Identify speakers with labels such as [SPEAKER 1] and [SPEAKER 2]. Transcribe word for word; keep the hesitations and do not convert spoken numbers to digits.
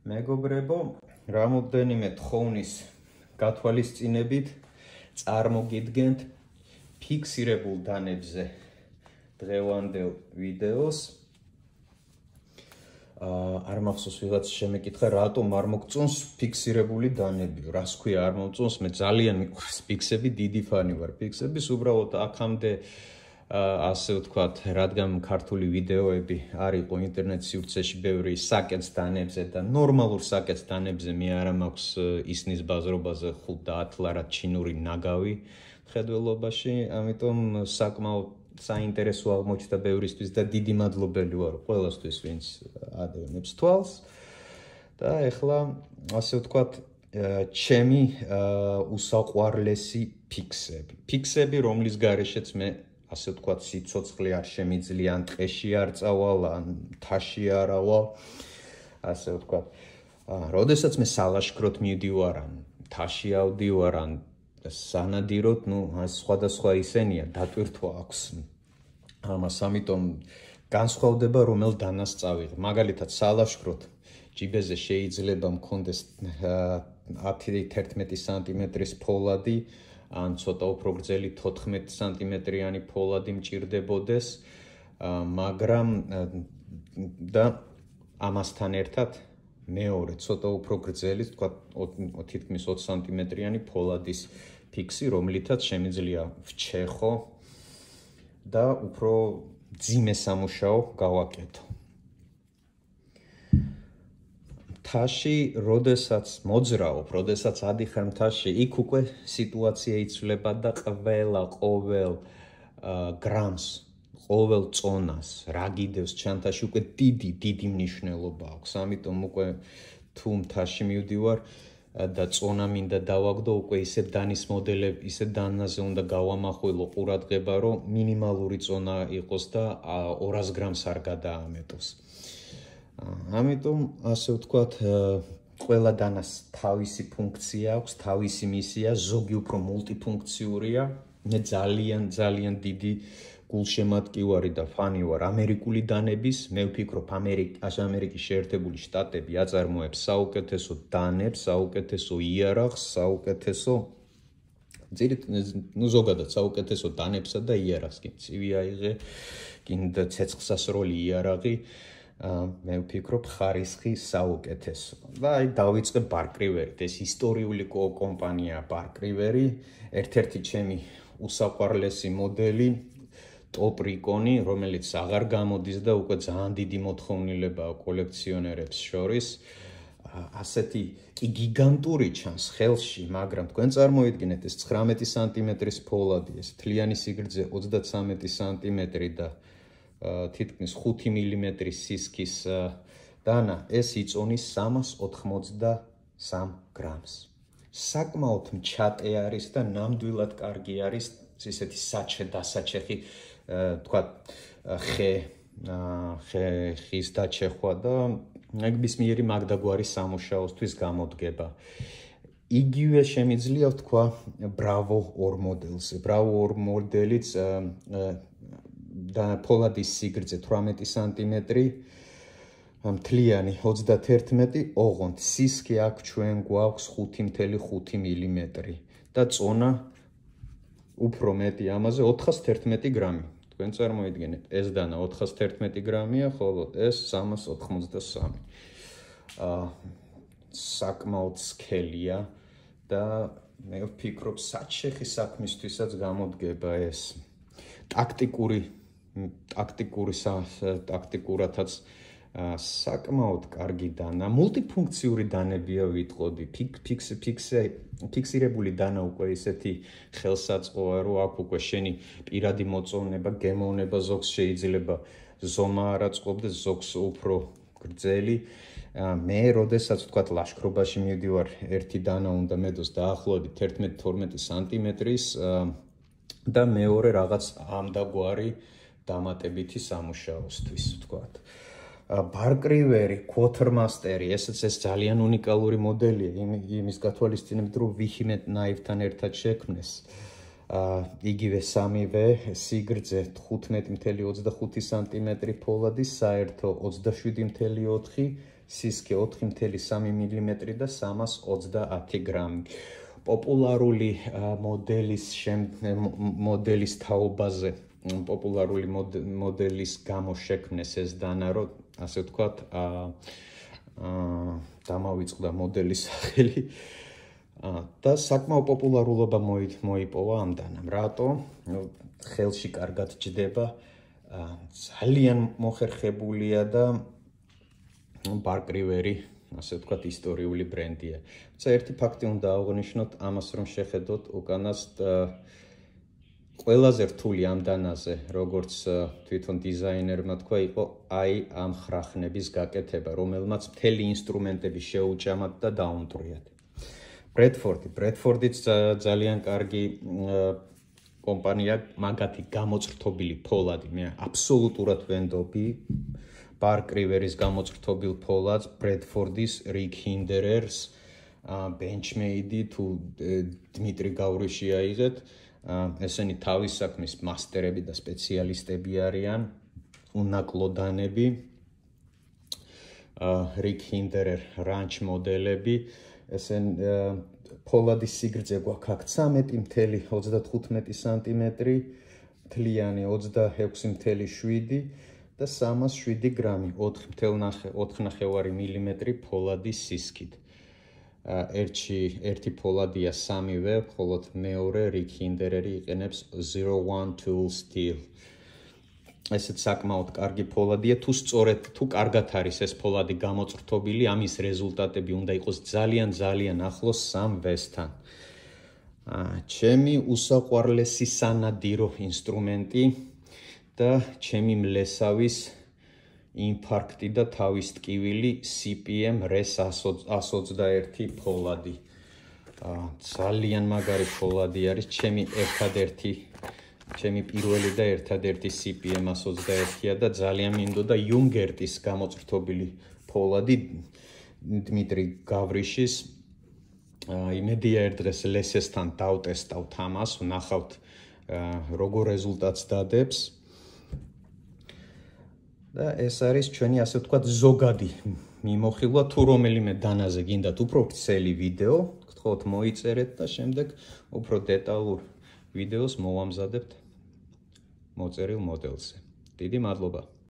[SPEAKER 1] მეგობრებო, რამოდენიმე თხოვნის გათვალისწინებით წარმოგიდგენთ ფიქსირებულ დანებზე დღევანდელ ვიდეოს. არ მახსოვს ვიღაც შემეკითხა, რატომ არ მოგწონს ფიქსირებული დანები, რას ქვია არ მომწონს, მე ძალიან მიყვარს ფიქსები, დიდი ფანი ვარ ფიქსების, უბრალოდ აქამდე ასე ვთქვათ, რადგან ქართული ვიდეოები არ იყო ინტერნეტ სივრცეში ბევრი საკეთს დანებზე და ნორმალურ საკეთს დანებზე მე არა მაქვს ისნის ბაზრობაზე ხუთ და ათ ლარად ჩინური ნაგავი მხედველობაში, ამიტომ საკმაოდ საინტერესო აღმოჩნდა ბევრისთვის და დიდი მადლობელი ვარ ყველასთვის, ვინც ადევნებს თვალს. და ეხლა ასე ვთქვათ, ჩემი უსაყვარლესი ფიქსები. ფიქსები, რომლის გარეშეც მე ასე ვთქვათ, სიცოცხლე არ შემიძლია, ან ტყეში არ წავალ, ან მთაში არ ავალ, ასე ვთქვათ. როდესაც მე სალაშქროდ მივდივარ, ან მთაში ავდივარ, ან სანადიროდ, ნუ სხვადასხვა ისენია, დატვირთვა აქვს ამას, ამიტომ განსხვავდება რომელ დანას წავიღე. მაგალითად, სალაშქროდ ჯიბეზე შეიძლება მქონდეს ათი თერთმეტი სანტიმეტრის ფოლადი, ან ცოტა უფრო გრძელი თოთხმეტი სანტიმეტრიანი ფოლადი მჭირდებოდეს, მაგრამ და ამასთან ერთად მეორე ცოტა უფრო გრძელი, თქვა თითქმის ოცი სანტიმეტრიანი ფოლადის ფიქსი, რომლითაც შემიძლია ვჩეხო და უფრო მძიმე სამუშაო გავაკეთო. მთაში, როდესაც მოძრაობ, როდესაც ადიხარ მთაში, იქ უკვე სიტუაცია იცვლება და ყველა ყოველ გრამს, ყოველ წონას, რა გიდევს ჩანთაში, უკვე დიდი, დიდი მნიშვნელობა აქვს. ამიტომ უკვე თუ მთაში მივდივარ და წონა მინდა დავაგდო, უკვე ისეთ დანის მოდელები, ისეთ დანაზე უნდა გავამახვილო ყურადღება, რომ მინიმალური წონა იყოს და ორას გრამს არ გადაამეტოს. ამიტომ ასე ვთქვათ, ყველა დანას თავისი ფუნქცია აქვს, თავისი მისია, ზოგი უფრო მულტიფუნქციურია. მე ძალიან ძალიან დიდი გულშემატკივარი და ფანი ვარ ამერიკული დანების. მე ვფიქრობ, ამერიკის შეერთებული შტატები აწარმოებს საუკეთესო დანებს, საუკეთესო იარაღს, საუკეთესო ნუ ზოგადად საუკეთესო დანებსა და იარაღს. კი ცივი აიღე, კიდე ცეცხლსასროლი იარაღი. მე ვფიქრობ, ხარისხი საუკეთესო. და აი დავიწყე ბარკრივერით. ეს ისტორიული კომპანია ბარკრივერი, ერთ-ერთი ჩემი უსაყვარლესი მოდელი, ტოპ რიკონი, რომელიც აღარ გამოდის და უკვე ძალიან დიდი მოთხოვნილებაა კოლექციონერებს შორის. ასეთი კი გიგანტური ჩანს ხელში, მაგრამ თქვენ წარმოიდგინეთ, ეს ცხრამეტი სანტიმეტრის ფოლადი, ეს მთლიანი სიგრძე ოცდაცამეტი სანტიმეტრი და თითქმის ხუთი მილიმეტრის სისქის დანა, ეს იწონის სამას ოთხმოცდასამ გრამს. საკმაოდ მჩატე არის და ნამდვილად კარგი არის ისეთი საჩე დასაჩეხი, თქვა ხე, ხის დაჩეხვა და ნებისმიერი მაგდაგვარი სამუშაოსთვის გამოდგება. იგივე შემიძლია ვთქვა ბრავო ორ მოდელზე. ბრავო ორ მოდელიც და ფოლადის სიგრძე თვრამეტი სანტიმეტრი, მთლიანი ოცდათერთმეტი, ოღონდ სისქი აქ ჩვენ გვაქვს ხუთი ათეული ხუთი მილიმეტრი და წონა უფრო მეტი ამაზე ოთხას თერთმეტი გრამი. თქვენ წარმოიდგინეთ, ეს დანა ოთხას თერთმეტი გრამია, ხოლო ეს სამას ოთხმოცდასამი. საკმაოდ სქელია და მე ვფიქრობ, საჩეხი საქმისთვისაც გამოდგება ეს ტაქტიკური ტაქტიკური ტაქტიკურათაც საკმაოდ კარგი დანა, მულტიფუნქციური დანებია ვიტყოდი. ფიქსირებული დანა უკვე ისეთი ხელსაწყოა, რომ აქ უკვე შენი პირადი მოწონება, გემოვნება ზოგს შეიძლება ზომა არ აწყობდეს, ზოგს უფრო გრძელი. მე როდესაც ვთქვათ ლაშქრობაში მივდივარ, ერთი დანა უნდა მედოს დაახლოებით თერთმეტი თორმეტი სანტიმეტრის და მეორე რაღაც ამდაგვარი დამატებითი სამუშაოსთვის, ვთქვათ. ბარკრივერი, Quartermaster, ესეც ეს ძალიან უნიკალური მოდელია, იმის გათვალისწინებით, რომ Vehement Knife-თან ერთად შექმნეს. იგივე სამივე სიგრძე თხუთმეტი ათეული ოცდახუთი სანტიმეტრი ფოლადი, საერთო ოცდაშვიდი ათეული ოთხი სისქე ოთხი კoma სამი მილიმეტრი და სამას ოცდაათი გრამი. პოპულარული მოდელის მოდელის თაობაზე, პოპულარული მოდელის გამო შექმნეს ეს დანა, რომ ასე ვთქვათ, დამავიწყდა მოდელის სახელი და საკმაო პოპულარულობა მოიპოვა ამ დანამ. რატო? ხელში კარგად ჯდება, ძალიან მოხერხებულია და Park River-ი, ასე ვთქვათ, ისტორიული ბრენდია. თუმცა ერთი ფაქტი უნდა აღვნიშნოთ ამას, რომ შეხედოთ უკანას ყველაზე რთული ამ დანაზე, როგორც თვითონ დიზაინერმა თქვა, იყო აი ამ ხრახნების გაკეთება, რომელმაც მთელი ინსტრუმენტები შეუჭამათ და დაუნტრიათ. Bradford-ი, Bradford-იც ძალიან კარგი კომპანია, მაგათი გამოწრთობილი ფოლადი, მე აბსოლუტურად ვენდობი Park River-ის გამოწრთობილ ფოლადს, Bradford-ის, Rick Hinderers, Benchmade-ი თუ დმიტრი გავრიში აიღეთ, ესენი თავის საქმის მასტერები და სპეციალისტები არიან, უნაკლოდანები, Rick Hinderer Ranch მოდელები, ესენ ფოლადის სიგრძე გვაქვს აქ ცამეტი კoma ოცდათხუთმეტი სანტიმეტრი, მთლიანი ოცდაექვსი კoma შვიდი და სამას შვიდი გრამი, ოთხი კoma ნახევარი მილიმეტრი ფოლადის სისქით. ერთში ერთი ფოლადია სამივე, ხოლო მეორე Rick Hindereri იყენებს zero one tool steel. ესეც საკმაოდ კარგი ფოლადია, თუ სწორედ, თუ კარგად არის ეს ფოლადი გამოწრთობილი, ამის რეზულტატები უნდა იყოს ძალიან ძალიან ახლოს სამ ვესთან. ჩემი უსაყვარლესი სანადირო ინსტრუმენტი და ჩემი მლესავის ინფარქტი და თავის ტკივილი C P M RES one twenty-one ფოლადი. ძალიან მაგარი ფოლადი არის, ჩემი ერთადერთი ჩემი პირველი და ერთადერთი C P M one twenty-one-ია და ძალიან მინდოდა იუნგერტის გამოწრთობილი ფოლადი დმიტრი გავრიშის. იმედია ერთ დღეს ლესესთან დავტესტავთ ამას, ვნახავთ როგორ რეზულტატს დადებს. და ეს არის ჩვენი, ასე ვთქვათ, ზოგადი მიმოხილვა, თუ რომელიმე დანაზე გინდათ უფრო ვრცელი ვიდეო, გთხოვთ მოიწერეთ და შემდეგ უფრო დეტალურ ვიდეოს მოვამზადებთ მოწერილ მოდელზე. დიდი მადლობა.